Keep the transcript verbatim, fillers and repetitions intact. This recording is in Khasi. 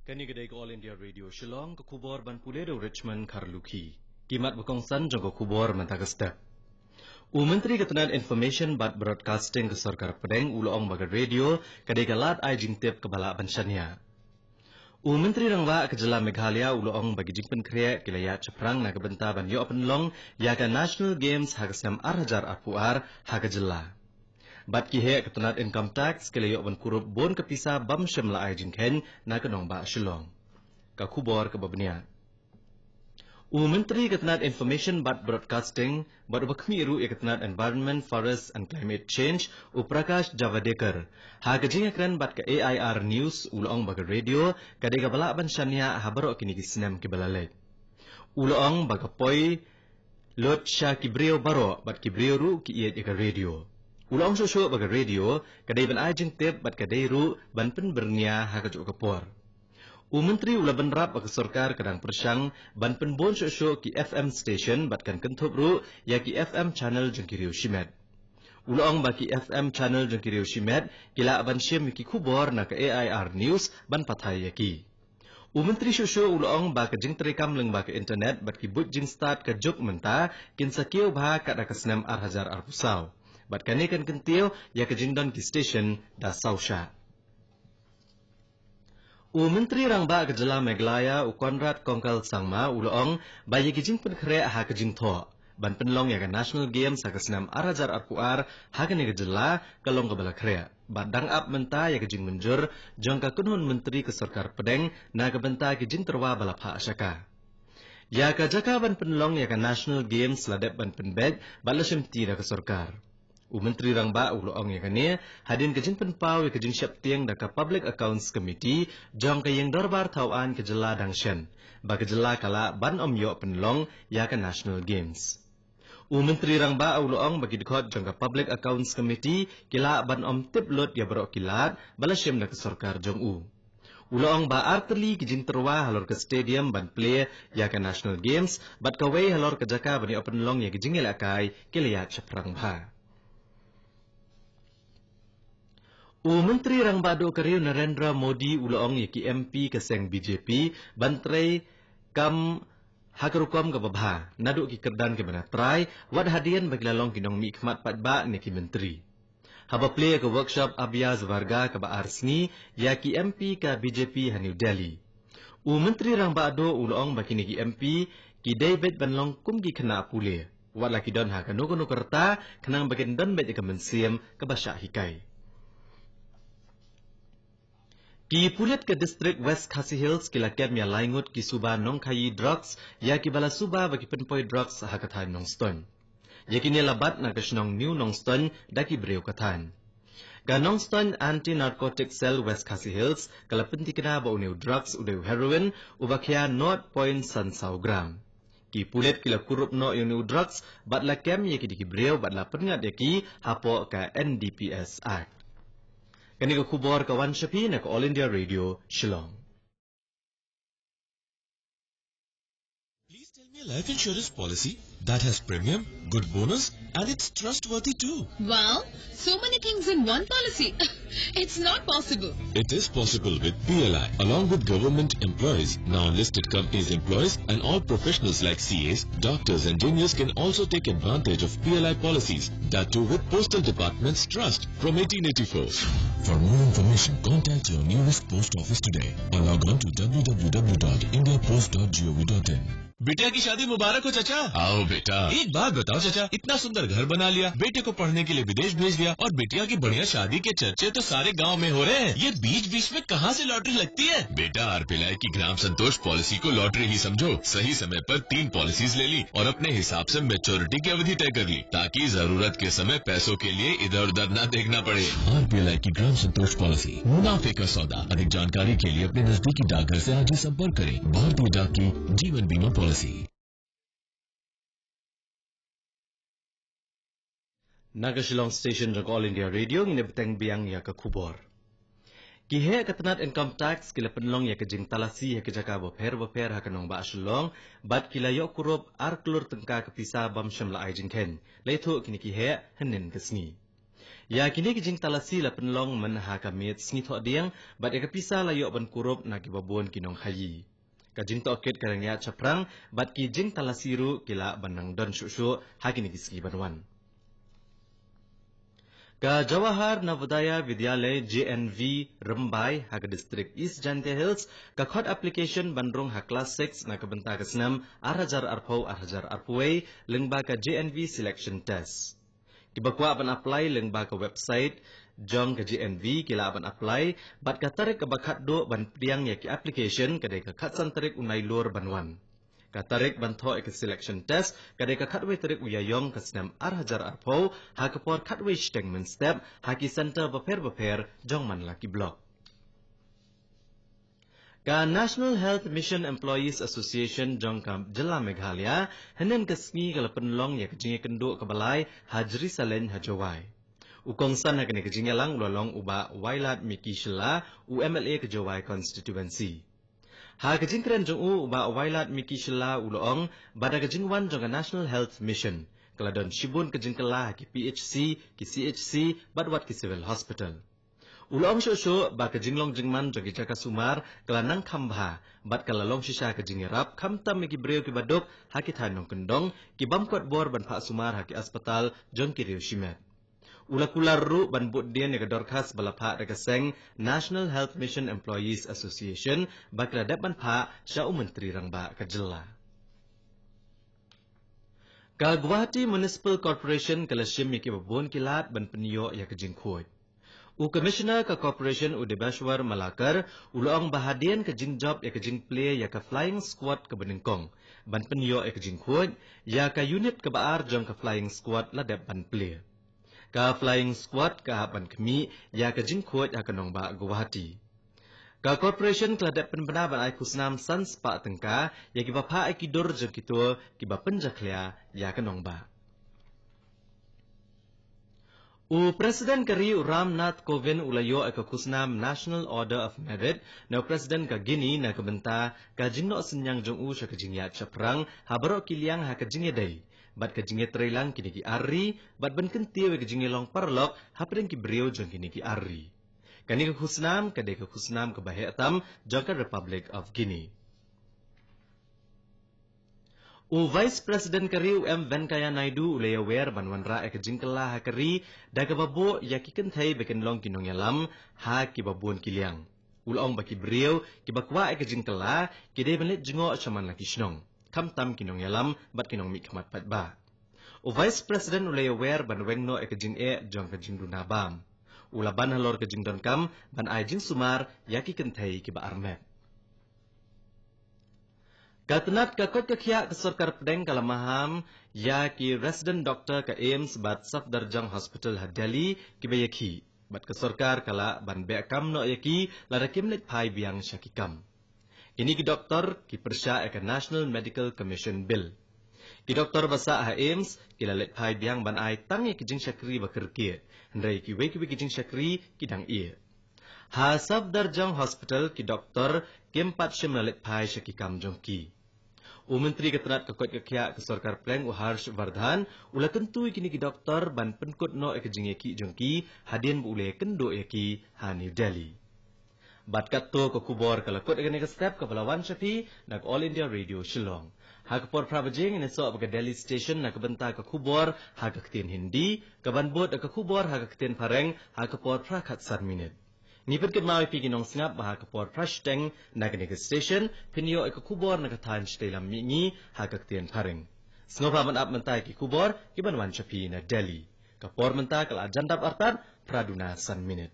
Kane ka dei ka All India Radio Shillong, ka khubor ban pule da u Richmond Kharlukhi. Ki mat ba kongsan jong ka khubor mynta ka step. U Myntri ka tnat Information bad Broadcasting ka Sorkar Pdeng u la ong ba ka radio ka dei ka lad ai jingtip kaba lah ban shaniah. U Myntri Rangbah ka jylla Meghalaya u la ong ba ki jingpynkhreh ki la ïaid shaphrang na ka bynta ban ïoh pynlong ïa ka National Games ha ka snem ar hajar arphew ar ha ka jylla. Bad ki heh ka tnat Income Tax ki la ïoh ban kurup bun ka pisa bym shym la ai jingkheiñ na ka nongbah Shillong. Ka khubor kaba bniah. U Myntri ka tnat Information bad Broadcasting bad uba khmih ruh ïa ka tnat Environment, Forest and Climate Change, u Prakash Javadekar, ha ka jingïakren bad ka A I R News u la ong ba ka radio ka dei kaba lah ban shaniah ha baroh kine ki snem kiba la leit. U la ong ba ka poi lut sha ki briew baroh bad ki briew ruh ki ïeit ïa ka radio. U la ong shuh shuh ba ka radio ka dei ban ai jingtip bad ka dei ruh ban pynbyrngia ha kajuh ka por. U Myntri u la bynrap ba ka sorkar ka dang pyrshang ban pynbun shuh shuh ki F M station bad kan kynthup ruh ïa ki F M channel jong ki riew shimet. U la ong ba ki F M channel jong ki riew shimet ki lah ban shim ïa ki khubor na ka A I R News ban pathai ïa ki. U Myntri shuh shuh u la ong ba ka jingtreikam lyngba ka internet bad ki buit jingstad ka juk mynta kin sa kiew bha katba ka snem ar hajar arphew saw. Bad kane kan kyntiew ïa ka jingdon ki station da saw shah. U Myntri Rangbah ka jylla Meghalaya u Conrad Kongkal Sangma u la ong ba ïa ki jingpynkhreh ha ka jingthoh ban pynlong ïa ka National Games ha ka snem ar hajar arphew ar ha kane ka jylla ka long kaba la khreh bad dang ap mynta ïa ka jingmynjur jong ka kynhun myntri ka Sorkar Pdeng na ka bynta ki jingtyrwa ba la phah sha ka. Ïa ka jaka ban pynlong ïa ka National Games la dep ban pynbeit bad la shimti da ka sorkar. U Myntri Rangbah u la ong ïa kane hadien ka jingpynpaw ïa ka jingsheptieng da ka Public Accounts Committee jong ka ïing dorbar thaw aiñ ka jylla dang shen ba ka jylla ka lah ban ym ïoh pynlong ïa ka National Games. U Myntri Rangbah u la ong ba ki dkhot jong ka Public Accounts Committee ki lah ban ym tip lut ïa baroh ki lad ba la shim da ka sorkar jong u. U la ong ba ar tylli ki jingtyrwa halor ka stadium ban plie ïa ka National Games bad kawei halor ka jaka ban ïoh pynlong ïa ki jingïalehkai ki la ïaid shaphrang bha. U Myntri Rangbah Duh ka ri u Narendra Modi u la ong ïa ki M P ka seng B J P ban trei kam ha ka rukom kaba bha naduh ki kyrdan kiba na trai wat hadien ba ki la long ki nongmihkhmat paidbah ne ki myntri. Haba plie ka workshop Abhyaas Varga kaba ar sngi ïa ki M P ka B J P ha New Delhi, u Myntri Rangbah Duh u la ong ba kine ki M P ki dei beit ban long kum ki khynnah pule wat la ki don ha kano kano ka rta khnang ba kin don beit ïa ka mynsiem kaba shah hikai. Ki pulit ka district West Khasi Hills ki la kem ïa lai ngut ki suba nongkhaïi drugs ïa kiba la suba ba ki pynpoi drugs ha ka thaiñ Nongstoiñ. Ïa kine la bat na ka shnong New Nongstoiñ da ki briew ka thaiñ. Ka Nongstoiñ Anti Narcotic Cell West Khasi Hills ka la pynthikna ba une u drugs u dei u heroin uba khia nought point san saw gram. Ki pulit ki la kurup noh ïa une u drugs bad la kem ïa kine ki briew bad la pynngat ïa ki hapoh ka N D P S Act. Kane ka khubor ka wan sha phi na ka All India Radio Shillong. Please tell me a life insurance policy that has premium, good bonus, and it's trustworthy too. Wow, so many things in one policy. It's not possible. It is possible with P L I. Along with government employees, now listed companies employees, and all professionals like C As, doctors, engineers can also take advantage of P L I policies. That too with Postal Department's trust from eighteen eighty-four. For more information, contact your nearest post office today or log on to W W W dot india post dot gov dot in. बिटिया की शादी मुबारक हो चाचा। आओ बेटा। एक बात बताओ चाचा, इतना सुंदर घर बना लिया, बेटे को पढ़ने के लिए विदेश भेज दिया और बिटिया की बढ़िया शादी के चर्चे तो सारे गांव में हो रहे हैं। ये बीच बीच में कहाँ से लॉटरी लगती है? बेटा, आरपीएलआई की ग्राम संतोष पॉलिसी को लॉटरी ही समझो। सही समय पर तीन पॉलिसीज ले ली और अपने हिसाब से मैच्योरिटी की अवधि तय कर ली, ताकि जरूरत के समय पैसों के लिए इधर उधर ना देखना पड़े। आरपीएलआई की ग्राम संतोष पॉलिसी, मुनाफे का सौदा। अधिक जानकारी के लिए अपने नजदीकी डाकघर से आज ही संपर्क करें। भारतीय डाक की जीवन बीमा पॉलिसी। Na ka Shillong Station jong ka All India Radio ngin ïa bteng biang ïa ka khubor. Ki heh ka tnat Income Tax ki la pynlong ïa ka jingtalasi ha ki jaka bapher bapher ha ka nongbah Shillong bad ki la ïoh kurup ar klur tyngka ka pisa bym shym la ai jingkheiñ. La ïathuh kine ki heh hynnin ka sngi. Ïa kine ki jingtalasi la pynlong mynha ka miet sngi Thohdieng, bad ïa ka pisa la ïoh ban kurup na kiba bun ki nongkhaïi. Ka jingtohkit ka dang ïaid shaphrang, bad ki jingtalasi ruh ki lah ban nang don shuh shuh ha kine ki sngi ban wan. Ka Jawahar Navodaya Vidyalaya, J N V, Rymbai, ha ka district East Jaintia Hills, ka khot application ban rung ha class six na ka bynta ka snem ar hajar arphew ar hajar arphew wei, lyngba ka J N V selection test. Kiba kwah ban apply lyngba ka website jong ka J N V ki lah ban apply, bad ka tarik kaba khatduh ban pdiang ïa ki application ka dei ka khatsan tarik u Nailur ban wan. Ka tarik ban thoh ïa ka selection test ka dei ka khatwei tarik u Ïaïong ka snem ar hajar arphew, ha ka por khatwei shiteng mynstep, ha ki centre bapher bapher jong man la ki block. Ka National Health Mission Employees Association jong ka jylla Meghalaya, hynnin ka sngi ka la pynlong ïa ka jingïakynduh kaba lai ha Jerusalem ha Jowai. U kongsan ha kane ka jingïalang u la long u Bah Wailadmiki Shylla, u M L A ka Jowai constituency. Ha ka jingkren jong u, u Bah Wailadmiki Shylla u la ong ba da ka jingwan jong ka National Health Mission ka la don shibun ka jingkylla ha ki P H C, ki C H C, bad wat ki civil hospital. U la ong shuh shuh ba ka jinglong jingman jong ki jaka sumar ka la nang kham bha, bad ka la long shisha ka jingïarap khamtam ïa ki briew kiba duk ha ki thaiñ nongkyndong, ki bym kot bor ban phah sumar ha ki aspatal jong ki riew shimet. U la kular ruh ban bud dien ïa ka dorkhas ba la phah da ka seng National Health Mission Employees Association ba ki la dep ban phah sha u Myntri Rangbah ka jylla. Ka Guwahati Municipal Corporation ka la shim ïa kiba bun ki lad ban pynïoh ïa ka jingkhuid. U Commissioner ka Corporation u Debashwar Malakar u la ong ba hadien ka jingjop ïa ka jingplie ïa ka flying squad kaba nyngkong ban pynïoh ïa ka jingkhuid, ïa ka unit kaba ar jong ka flying squad la dep ban plie. Ka flying squad ka hap ban khmih ïa ka jingkhuid ha ka nongbah Guwahati. Ka corporation ka la dep pynbna ban ai khusnam san spah tyngka ïa kiba phah ïa ki dur jong kito kiba pynjakhlia ïa ka nongbah. U President ka ri u Ram Nath Kovind u la ïoh ïa ka khusnam National Order of Merit na u President ka Guinea na ka bynta ka jingnoh synñiang jong u sha ka jingïaid shaphrang ha baroh ki liang ha ka jingïadei bad ka jingïatreilang kine ki ar ri, bad ban kyntiew ïa ka jingïalong paralok hapdeng ki briew jong kine ki ar ri. Kane ka khusnam ka dei ka khusnam kaba heh tam jong ka Republic of Guinea. U Vice President ka ri u M Venkaiah Naidu u la ïawer ban wanrah ïa ka jingkylla ha ka ri da kaba buh ïa ki kynthei ba kin long ki nongïalam ha kiba bun ki liang. U la ong ba ki briew kiba kwah ïa ka jingkylla ki dei ban leit jngoh sha man la ki shnong, khamtam ki nongïalam bad ki nongmihkhmat paidbah. U Vice President u la ïawer ban weng noh ïa ka jingeh jong ka jingduna bam. U la ban halor ka jingdonkam ban ai jingsumar ïa ki kynthei kiba armet. Ka tnat ka koit ka khiah ka sorkar pdeng ka la maham ïa ki resident doctor ka AIIMS bad Safdarjung Hospital ha Delhi kiba ïakhih, bad ka sorkar ka lah ban beh kam noh ïa ki lada kim leit phai biang sha ki kam. Kine ki doktor ki pyrshah ïa ka National Medical Commission Bill. Ki doktor ba sah ha AIIMS ki la leit phai biang ban ai tang ïa ki jingshakri ba kyrkieh, hynrei kiwei kiwei ki jingshakri ki dang ïeh. Ha Safdarjung Hospital ki doktor kim pat shym la leit phai sha ki kam jong ki. U Myntri ka tnat ka koit ka khiah ka sorkar pdeng u Harsh Vardhan u la kyntu ïa kine ki doktor ban pynkut noh ïa ka jingïakhih jong ki hadien ba u la ïakynduh ïa ki ha New Delhi. Bad katto ka khubor ka la kut ïa kane ka step kaba la wan sha phi na ka All India Radio Shillong. Ha ka por phra baje ngin ïasoh bad ka Delhi Station na ka bynta ka khubor ha ka ktien Hindi, kaban bud ka khubor ha ka ktien Phareng ha ka por phra khatsan minit. Ngi pynkynmaw ïa phi ki nongsngap ba ha ka por phra shiteng na kane ka station phin ïoh ïa ka khubor na ka thaiñ shatei lam mihngi ha ka ktien Phareng. Sngewbha ban ap mynta ïa ki khubor kiban wan sha phi na Delhi. Ka por mynta ka la jan dap artat phra duna san minit.